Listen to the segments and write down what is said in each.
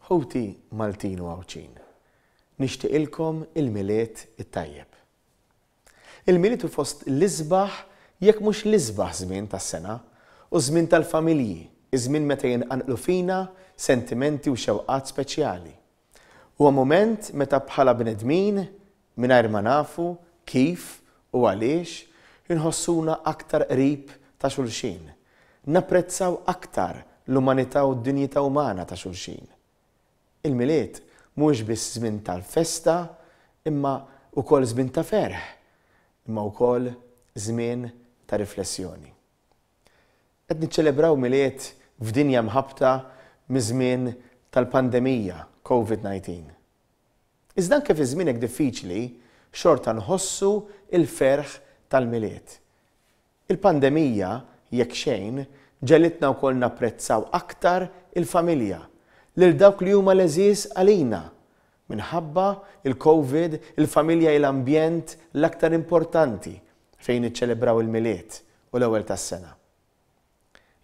Ħuti Maltin u Għawdxin, nixtieqilkom il-Milied it-tajjeb. Il-Milied hu fost l-isbaħ jekk mhux l-isbaħ żmien tas-sena, hu ż-żmien tal-familji, iż-żmien meta jinqanqlu fina sentimenti u xewqat speċjali. Huwa mument meta bħala bnedmin, mingħajr ma nafu kif u għaliex, inħossuna aktar qrib ta' xulxin, napprezzaw aktar l-umanità u d-dinjità umana ta' xulxin. Il-Milied mhuwiex biss żmien tal-festa imma wkoll żmien ta' ferħ, imma wkoll żmien ta' riflessjoni. Qed niċċelebraw Milied f'dinja mħabbta miż-żmien tal-pandemija Covid 19. Iżda anke fi żmien hekk diffiċli xorta nħossu l-ferħ tal-Milied. Il-pandemija, jekk xejn, ġegħlitna wkoll napprezzaw aktar il-familja, lil dawk li huma l-għeżież għalina. Minħabba l-Covid, il-familja hi l-ambjent l-aktar importanti fejn niċċelebraw il-Milied u l-Ewwel tas-Sena.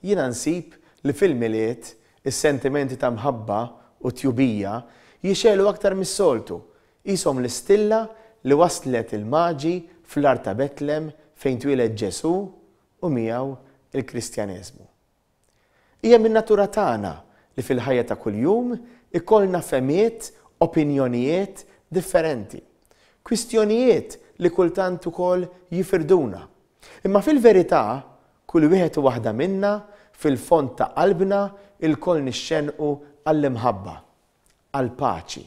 Jiena nsib li fil-Milied is-sentimenti ta' mħabba u tjubija jixegħlu aktar mis-soltu, qishom l-istilla li wasslet il-Maġi fl-għar ta' Betlem fejn twieled Ġesù u miegħu l-Kristjaneżmu. Hija min-natura tagħna li fil-ħajja ta' kuljum ikollna fehmiet, opinjonijiet differenti. Kwistjonijiet li kultant ukoll jifirduna. Imma fil-verità, kull wieħed u waħda minna, fil-fond ta' qalbna, ilkoll nixxennqu għall-imħabba, għall-paċi,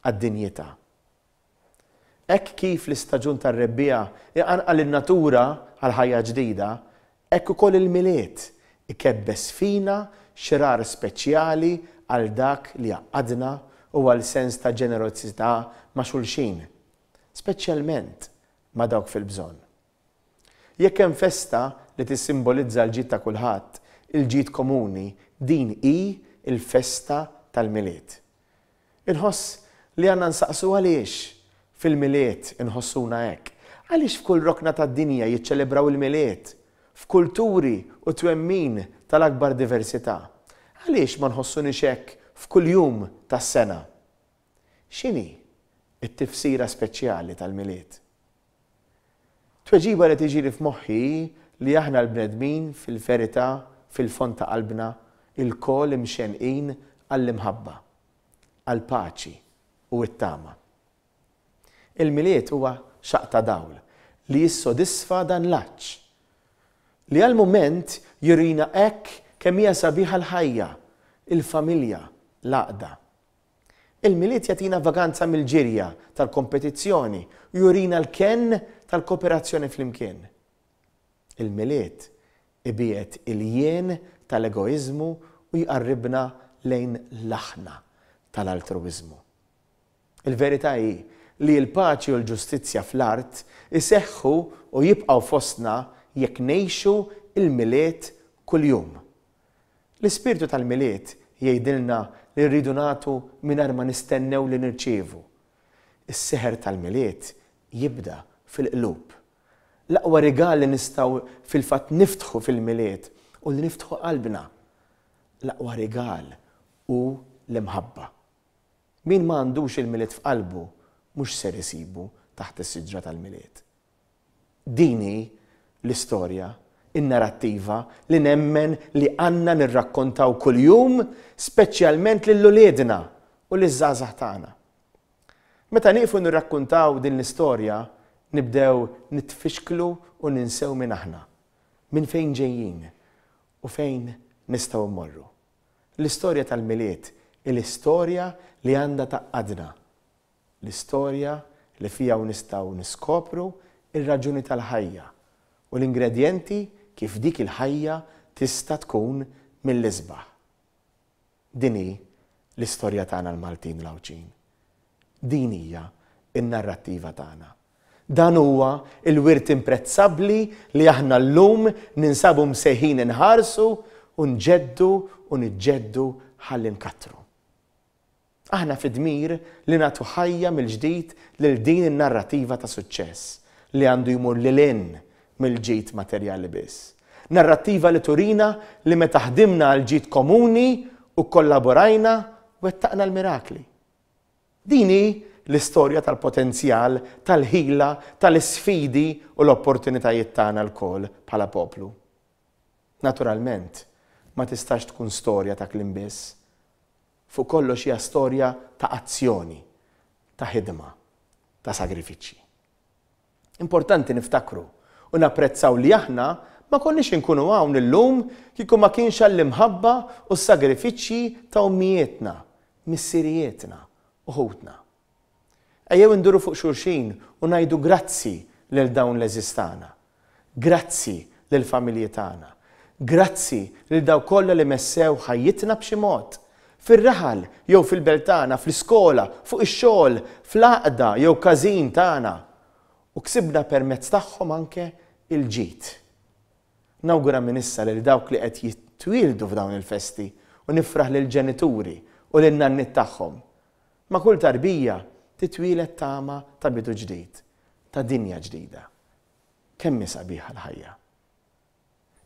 għad-dinjità. Hekk kif l-istaġun tar-rebbiegħa iqanqal in-natura għal ħajja ġdida, hekk ukoll il-Milied ikebbes fina xrar speċjali għal dak li jgħaqqadna u għal sens ta' ġenerożità ma' xulxin, speċjalment ma' dawk fil-bżonn. Jekk hemm festa li tissimbolizza l-ġid ta' kulħadd, il-ġid komuni, din hi l-festa tal-Milied. Inħoss li għandna nsaqsu għaliex fil-Milied inħossuna hekk. Għaliex f'kull rokna tad-dinja jiċċelebraw il-Milied, f'kulturi u twemmin tal-akbar diversità? Għaliex ma nħossuniex hekk f'kull jum tas-sena? X'inhi t-tifsira speċjali tal-Milied? Tweġiba li tiġini f'moħħi hi li aħna l-bnedmin fil-verità, fil-fond ta' qalbna, ilkoll imxennqin għall-imħabba, għall-paċi u t-tama. Il-Milied huwa xaqq ta' dawl li jissodisfa dan l-għatx, li għal mument jurina hekk kemm hija sabiħa l-ħajja, il-familja, l-għaqda. Il-Milied jagħtina vaganza mill-ġirja tal-kompetizzjoni u jurina l-kenn tal-kooperazzjoni flimkien. Il-Milied ibiegħed il-jien tal-egoiżmu u jqarribna lejn l-aħna tal-altruwiżmu. Il-verità hi li l-paċi u l-ġustizzja fl-art iseħħu u jibqgħu fostna jekk ngħixu l-Milied kuljum. L-ispirtu tal-Milied jgħidilna li rridu nagħtu mingħajr ma nistennew li nirċievu. Is-seħer tal-Milied jibda fil-qlub. L-aqwa rigal li nistgħu fil-fatt niftħu fil-Milied hu li niftħu qalbna. L-aqwa rigal hu l-imħabba. Min ma għandux il-Milied f'qalbu mhux ser isibu taħt is-siġra tal-Milied. Din hi l-istorja, in-narattiva li nemmen li għandna nirrakkontaw kuljum speċjalment lil uliedna u liż-żgħażagħ tagħna. Meta nieqfu nirrakkuntaw din l-istorja nibdew nitfixklu u ninsew min aħna, minn fejn ġejjin u fejn nistgħu mmorru. L-istorja tal-Milied hi l-istorja li għandha tgħaqqadna L-istorja li fiha u nistgħu niskopru r-raġuni tal-ħajja u l-ingredjenti kif dik il-ħajja tista' tkun mill-isbaħ. Din hi l-istorja tagħna l-Maltin u l-Għawdxin. Din hija n-narrattiva tagħna. Dan huwa l-wirt imprezzabbli li aħna llum ninsabu msejħin inħarsu u nġeddu u niġġeddu ħalli nkattru. Aħna fid-dmir li nagħtu ħajja mill-ġdid lil din in-narrativa ta' suċċess li għandu jmur lil hinn mill-ġid materjali biss. Narrattiva li turina li meta ħdimna għall-ġid komuni u kkollaborajna, wettaqna l-mirakli. Din hi l-istorja tal-potenzjal, tal-ħila, tal-isfidi u l-opportunitajiet tagħna lkoll bħala poplu. Naturalment, ma tistax tkun storja ta' kliem biss. Fuq kollox hija storja ta' azzjoni, ta' ħidma, ta' sagrifiċċji. Importanti niftakru u napprezzaw li aħna ma konniex inkunu hawn illum kieku ma kienx għall-imħabba u s-sagrifiċċji ta' ommijietna, missirijietna u ħutna. Ejjew induru fuq xulxin u ngħidu grazzi lil dawn l-għeżież tagħna. Grazzi lill-familji tagħna. Grazzi lil dawk kollha li messew ħajjitna b'xi mod. Fir-raħal jew fil-belt tagħna, fl-iskola, fuq ix-xogħol, fl-għaqda jew każin tagħna. U ksibna permezz tagħhom anke l-ġid. Nawgura minn issa lil dawk li qed jitwieldu f'dawn il-festi u nifraħ lill-ġenituri u lin-nanniet tagħhom. Ma' kull tarbija titwieled tama ta' bidu ġdid, ta' dinja ġdida. Kemm hi sabiħa l-ħajja!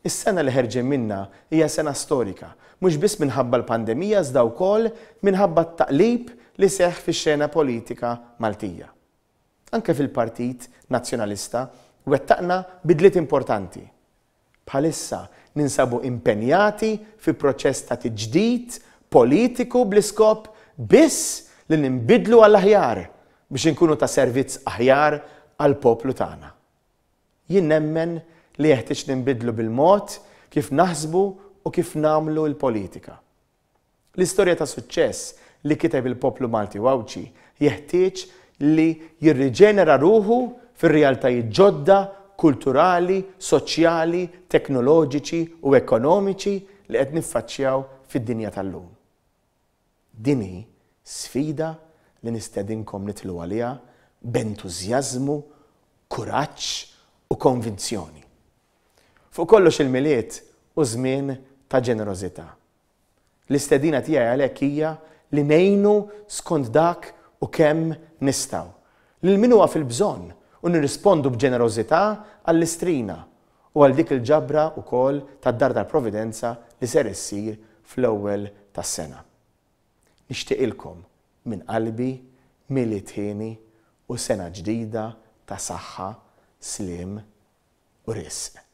Is-sena li ħerġin minnha hija sena storika, mhux biss minħabba l-pandemija iżda wkoll minħabba t-taqlib li seħħ fix-xena politika Maltija. Anke fil-Partit Nazzjonalista wettaqna bidliet importanti. Bħalissa ninsabu impenjati fi proċess ta' tiġdid politiku bl-iskop biss li ninbidlu għall-aħjar biex inkunu ta' servizz aħjar għall-poplu tagħna. Jien nemmen li jeħtieġ ninbidlu bil-mod kif naħsbu u kif nagħmlu l-politika. L-istorja ta' suċċess li kiteb il-poplu Malti u Għawdxi jeħtieġ li jirriġenera ruħu fir-realtajiet ġodda kulturali, soċjali, teknoloġiċi u ekonomiċi li qed niffaċċjaw fid-dinja tal-lum. Din hi sfida li nistedinkom nidħlu għaliha b'entużjażmu, kuraġġ u konvinzjoni. Fuq kollox il-Milied hu żmien ta' ġenerożità. L-istedina tiegħi għalhekk hija li ngħinu skont dak u kemm nistgħu lil min huwa fil-bżonn u nirrispondu b'ġenerożità għall-Istrina u għal dik il-ġabra wkoll tad-Dar tal-Providenza li ser issir fl-ewwel tas-sena. Nixtieqilkom minn qalbi Milied hieni u sena ġdida ta' saħħa, sliem u risq.